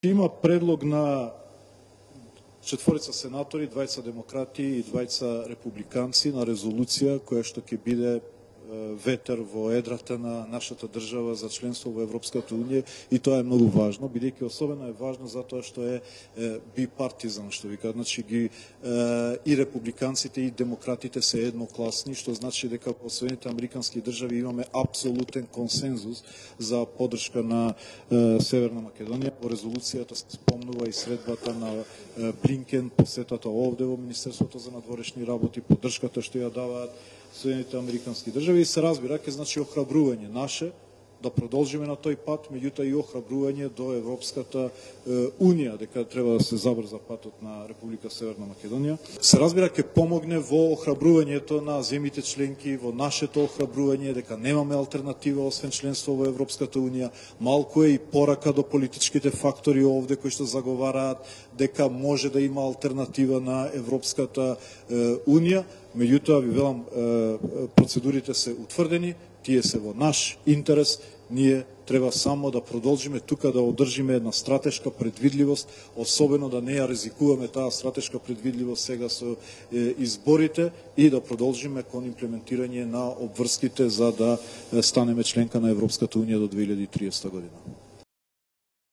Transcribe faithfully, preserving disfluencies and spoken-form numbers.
Има предлог на четворица сенатори, двајца демократи и двајца републиканци на резолуција која што ќе биде ветер во едрата на нашата држава за членство во Европската унија, и тоа е многу важно, бидејќи особено е важно затоа што е, е бипартизан, што вика, значи ги е, и републиканците и демократите се еднокласни, што значи дека во Соединените американски држави имаме апсолутен консензус за поддршка на е, Северна Македонија. Во резолуцијата се спомнува и средбата на е, Блинкен, посетата овде во Министерството за надворешни работи, поддршката што ја даваат Соединените американски држави, и се разбира ке значи охрабрување наше да продолжиме на тој пат, меѓутоа и охрабрување до Европската е, унија дека треба да се забрза патот на Република Северна Македонија. Се разбира ке помогне во охрабрувањето на земјите членки, во нашето охрабрување дека немаме алтернатива освен членство во Европската унија. Малку е и порака до политичките фактори овде кои што заговараат дека може да има алтернатива на Европската е, унија. Меѓутоа, ви велам, процедурите се утврдени, тие се во наш интерес, ние треба само да продолжиме тука да одржиме една стратешка предвидливост, особено да не ја ризикуваме таа стратешка предвидливост сега со изборите, и да продолжиме кон имплементирање на обврските за да станеме членка на Европската унија до две илјади и триесета година.